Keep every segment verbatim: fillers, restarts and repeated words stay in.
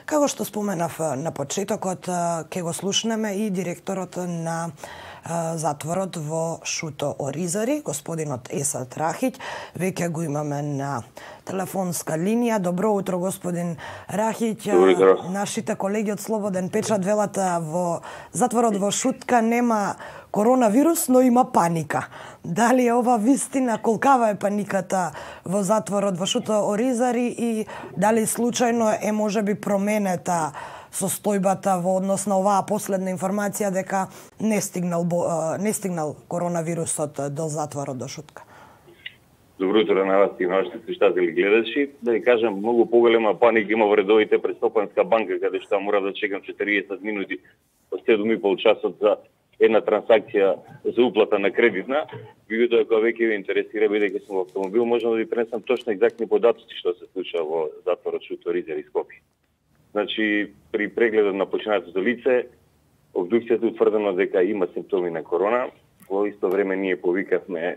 Како што споменав на почетокот, ќе го слушнеме и директорот на затворот во Шуто Оризари, господинот Есад Рахиќ. Веќе го имаме на телефонска линија. Добро утро, господин Рахиќ. Нашите колеги од Слободен печат велат во затворот во Шутка нема коронавирус, но има паника. Дали е ова вистина? Колкава е паниката во затворот во Шуто Оризари и дали случајно е можеби променета состојбата во однос на оваа последна информација дека не стигнал не стигнал коронавирусот до затворот до Шутка? Добро утро на вас и на вашите слушатели гледачи. Да ви кажам, многу поголема паника има во редовите пред Стопанска банка, каде што мора да чекам четириесет минути од седум и пол часот за една трансакција за уплата на кредитна. Меѓутоа, ако веќе ви интересира, бидејќи сум во автомобил, можам да ви пренесам точно екзактни податоци што се случува во затворот Шуто Оризари Скопје. Значи, при прегледот на починатото лице, обдукцијата утврдено дека има симптоми на корона. Во исто време ние повикавме е,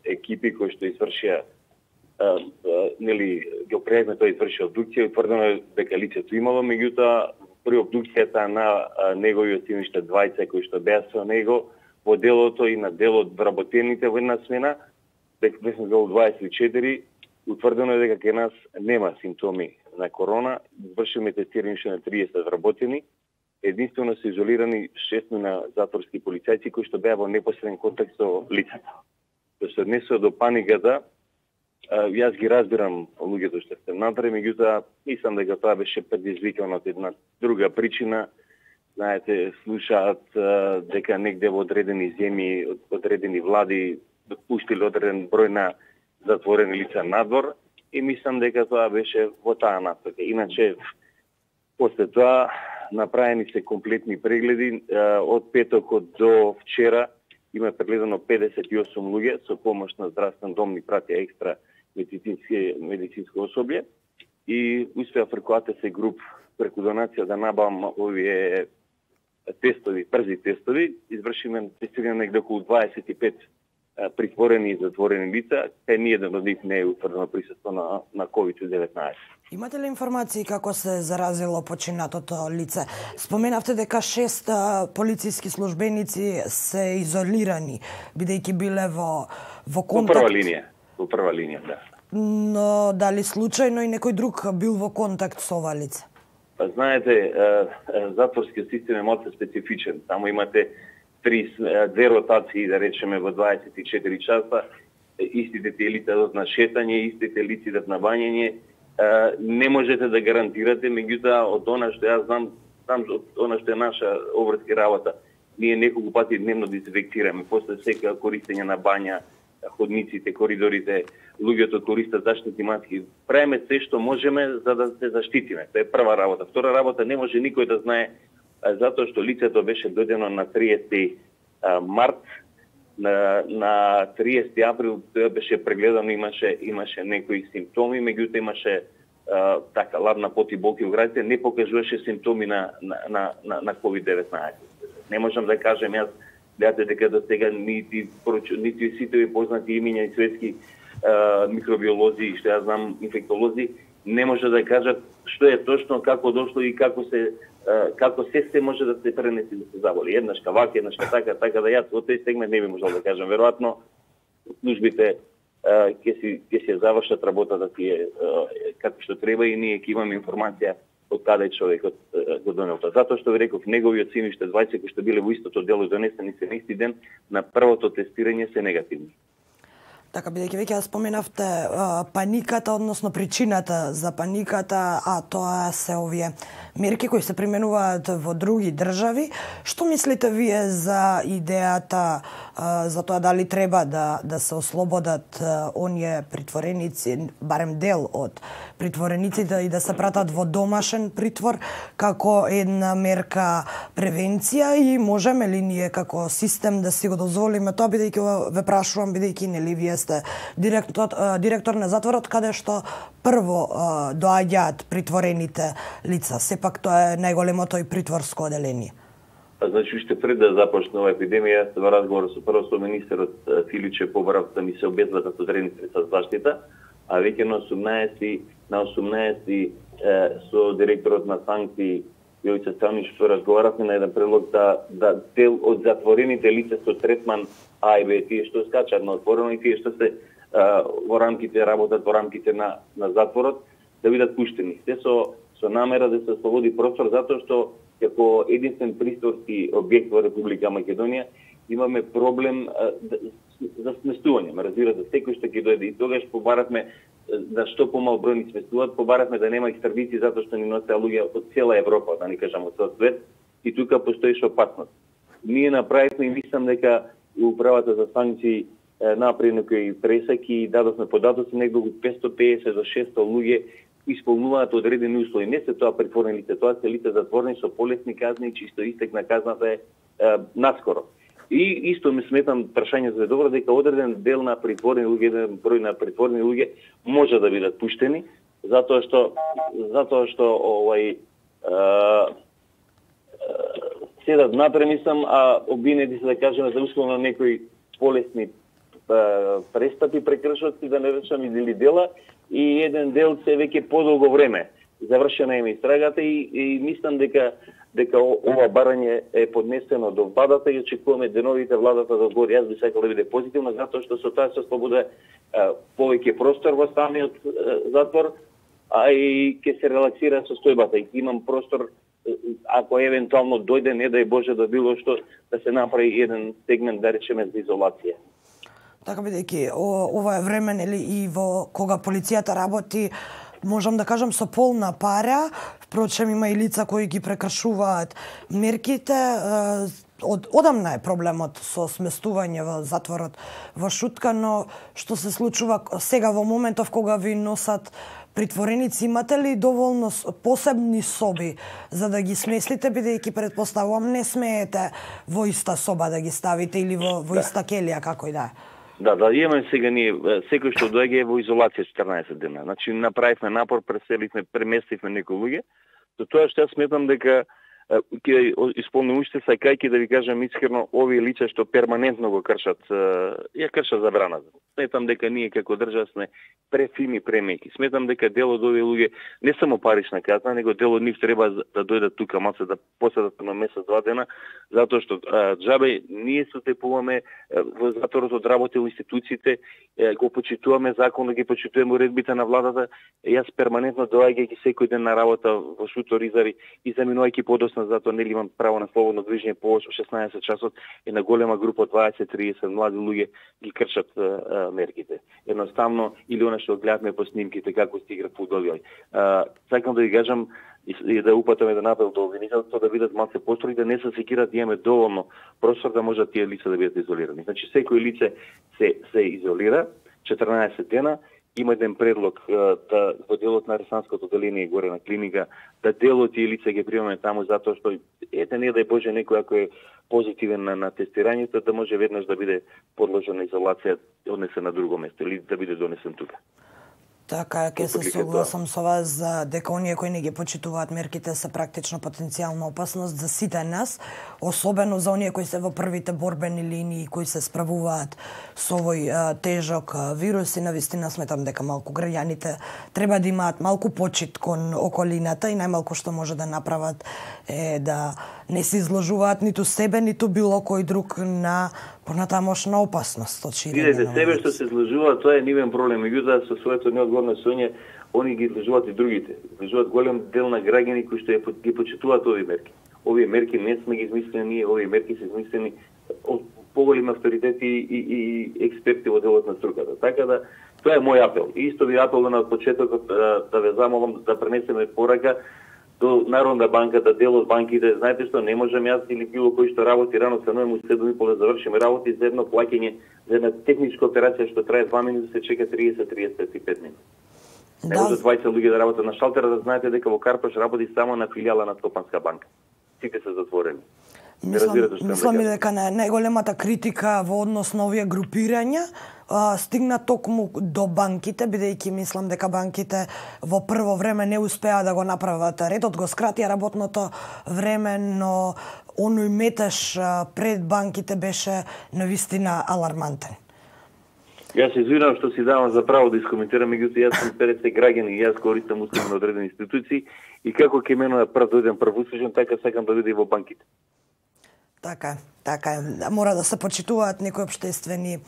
екипи кои што извршија, е, е, нели, го пријавме тој изврши обдукција, утврдено дека лицето имало, меѓутоа при обдукцијата на неговиот син уште двајца кои што беа со него во делото и на делот вработените во една смена, дека беше дело дваесет и четири, утврдено е дека кај нас нема симптоми на корона, извршиме тестирање на триесет вработени, единствено се изолирани шест на затворски полицајци кои што беа во непосреден контакт со лицата. Што се однесува до паниката, јас ги разбирам луѓето што сте натре, меѓутоа мислам дека тоа беше предизвикано од една друга причина. Знаете, слушаат дека негде во одредени земји, одредени влади допуштиле одреден број на затворени лица надвор и мислам дека тоа беше во таа насока. Иначе, после тоа направени се комплетни прегледи. Од петокот до вчера има прегледано педесет и осум луѓе со помош на здравствен дом ни пратија екстра медицинско особје и успеа преку А Т С груп, преку донација да набавам овие тестови, брзи тестови. Извршиме тестирање негде околу дваесет и пет притворени и затворени лица, кај ниеден од нив не е утврдено присуство на, на ковид деветнаесет. Имате ли информации како се заразило починатото лице? Споменавте дека шест полициски службеници се изолирани, бидејќи биле во, во контакт... Во прва линија, во прва линија, да. Но дали случајно и некој друг бил во контакт со ова лице? Знаете, затворскиот систем е малку специфичен. Само имате три, две ротации, да речеме, во дваесет и четири часа, истите тие лица идат на шетање, истите лица идат на бањење. Не можете да гарантирате, меѓутоа од она што јас знам, знам од она што е наша обврски работа, ние неколку пати дневно дезинфектираме, после сека користење на бања, ходниците, коридорите, луѓето користат заштитни маски. Правиме се што можеме за да се заштитиме. Тоа е прва работа. Втора работа, не може никој да знае, затоа што лицето беше дојдено на триесети март, на, на триесети април тоа беше прегледано, имаше имаше некои симптоми, меѓутоа имаше а, така ладна пот и болки во градите, не покажуваше симптоми на на на на, на ковид деветнаесет. Не можам да кажем јас гледате дека до сега нити нити сите ви познати имиња и светски а, микробиолози, што јас знам инфектолози, не може да кажат што е точно, како дошло и како се како се се може да се пренеси да се заболи. Еднашка вака, еднашка така, така да јас од тој сегмент не би можел да кажам. Веројатно службите ќе си ќе си завршат работата тие како што треба и ние ќе имаме информација од каде човекот го донел тоа. Затоа што ви реков, неговиот син уште двајца кои што биле во истото дело донесени се на исти ден, на првото тестирање се негативни. Така, бидејќи веќе споменавте паниката, односно причината за паниката, а тоа се овие мерки кои се применуваат во други држави. Што мислите вие за идејата за тоа дали треба да да се ослободат оние притвореници, барем дел од притворениците и да се пратат во домашен притвор како една мерка превенција и можеме ли ние како систем да си го дозволиме тоа, бидејќи ве прашувам, бидејќи нели вие сте директор, директор на затворот каде што прво доаѓаат притворените лица. Сепак тоа е најголемото и притворско оделение. Значи, уште пред да започне ова епидемија, во разговор со прво со министерот Филиче побарав да ми се обезбедат одредени средства за заштита, а веќе на осумнаесети на осумнаесети со директорот на санкции Јовица Станиш, што разговаравме на еден предлог да, да дел од затворените лица со третман А и Б, тие што скачат на отворено и тие што се а, во рамките, работат во рамките на, на затворот, да бидат пуштени. Се со, со намера да се слободи простор, затоа што како единствен присторски објект во Република Македонија имаме проблем а, да, за сместување. Ме разбирате, секој што ќе дојде и тогаш побаравме да што помал број ни сместуваат, побаравме да нема екстрадици затоа што ни носеа луѓе од цела Европа, да не кажам од цел свет, и тука постоеше опасност. Ние направивме и мислам дека управата за санкции направи некои пресеки и дадовме податоци некако од петстотини и песет до шесто луѓе исполнуваат одредени услови. Не се тоа притворени лица, тоа се лица затворени со полесни казни, чисто истек на казната е, е наскоро. И исто ми сметам прашање за добро дека одреден дел на притворени луѓе, еден број на притворени луѓе може да бидат пуштени, затоа што затоа што овај седат напремислам, а обвинети се да кажеме за условно некои полесни а, престапи, прекршоци, да не речам или дела, и еден дел се веќе подолго време завршена е истрагата и, и мислам дека дека ова барање е поднесено до владата и очекуваме деновите владата да одговори. Јас би сакал да биде позитивно, затоа што со тоа се слобода повеќе простор во самиот затвор, а и ќе се релаксира состојбата и имам простор, ако евентуално дојде, не дај Боже да било што, да се направи еден сегмент, да речеме, за изолација. Така бидејќи ова е време, нели, и во кога полицијата работи, можам да кажам, со полна пара. Впрочем, има и лица кои ги прекршуваат мерките. Од, одамна е проблемот со сместување во затворот во Шутка, но што се случува сега во моментов кога ви носат притвореници, имате ли доволно посебни соби за да ги сместите, бидејќи предпоставувам не смеете во иста соба да ги ставите или во, во иста келија, како и да е? Да, да, имаме сега ние, секој што доаѓа е во изолација четрнаесет дена. Значи, направивме напор, преселивме, преместивме некои луѓе, за тоа што јас сметам дека ќе исполним уште сакајќи да ви кажам искрено, овие лица што перманентно го кршат, ја кршат забраната. Сметам дека ние како држава сме префини, премеки. Сметам дека дел од овие луѓе не само парична казна, него дел од нив треба да дојдат тука маце да поседат на месец два дена, затоа што џабе ние се тепуваме во затворот, одработил институциите, го почитуваме законот, ги почитуваме уредбите на владата. Јас перманентно доаѓајќи секој ден на работа во Шутор, Изари и заминувајќи подоцна, затоа нели имам право на слободно движење по шеснаесет часот и на голема група дваесет до триесет млади луѓе ги кршат а, мерките. Едноставно, или она што гледавме по снимките како се игра фудбал. Сакам да ви кажам и да упатаме да напел до обвинителството да бидат малце построи, да не се секират, да имаме доволно простор да можат тие лица да бидат изолирани. Значи секој лице се се изолира четрнаесет дена. Има еден предлог да во делот на Ресанското деление горе на клиника да дел од тие лица ги примаме таму затоа што ете не дај Боже некој ако е позитивен на, на тестирањето да може веднаш да биде подложен на изолација, однесен на друго место или да биде донесен тука. Така, ќе се согласам со вас за дека оние кои не ги почитуваат мерките се практично потенцијална опасност за сите нас, особено за оние кои се во првите борбени линии, кои се справуваат со овој а, тежок а, вирус и навистина сметам дека малку граѓаните треба да имаат малку почит кон околината и најмалку што може да направат е да не се изложуваат ниту себе, ниту било кој друг на понатамошна опасност од ширење. Видете, себе што се изложува, тоа е нивен проблем. Меѓутоа, со своето неодговорно соње, они ги изложуваат и другите. Изложуваат голем дел на граѓани кои што ги почитуваат овие мерки. Овие мерки не сме ги измислени ние, овие мерки се измислени од поголеми авторитети и, и, и експерти во делот на струката. Така да, тоа е мој апел. И исто ви апел на почетокот да, да ве замолам да пренесеме порака до Народна банка, да дел од банките, знаете што, не можам јас или било кој што работи рано се ноем у седум и пол да завршиме работи за едно плаќање, за една техничка операција што трае два минути, се чека триесет до триесет и пет минути. Не може дваесет луѓе да работат на шалтера, да знаете дека во Карпаш работи само на филијала на Скопанска банка. Сите се затворени. Мислам, мислам и дека најголемата критика во однос на овие групирања а, стигна токму до банките, бидејќи мислам дека банките во прво време не успеа да го направат редот, го скратија работното време, но оној метеж пред банките беше навистина алармантен. Јас се извинувам што си давам за право да искоментирам, меѓутоа јас сум петдесет граѓани и јас користам услуги на одредени институции и како ќе менува прв дојден првуслужен, така сакам да биде и во банките. Така е, така е. Мора да се почитуваат некои општествени е,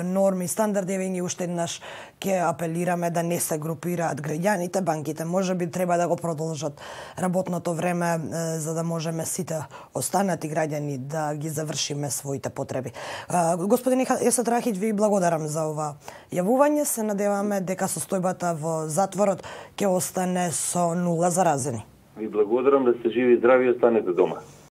норми и стандарди. Веќе уште еднаш ќе апелираме да не се групираат граѓаните, банките можеби треба да го продолжат работното време е, за да можеме сите останати граѓани да ги завршиме своите потреби. Е, господин Есат Рахич, ви благодарам за ова јавување. Се надеваме дека состојбата во затворот ќе остане со нула заразени. Ви благодарам, да сте живи и здрави и останете дома.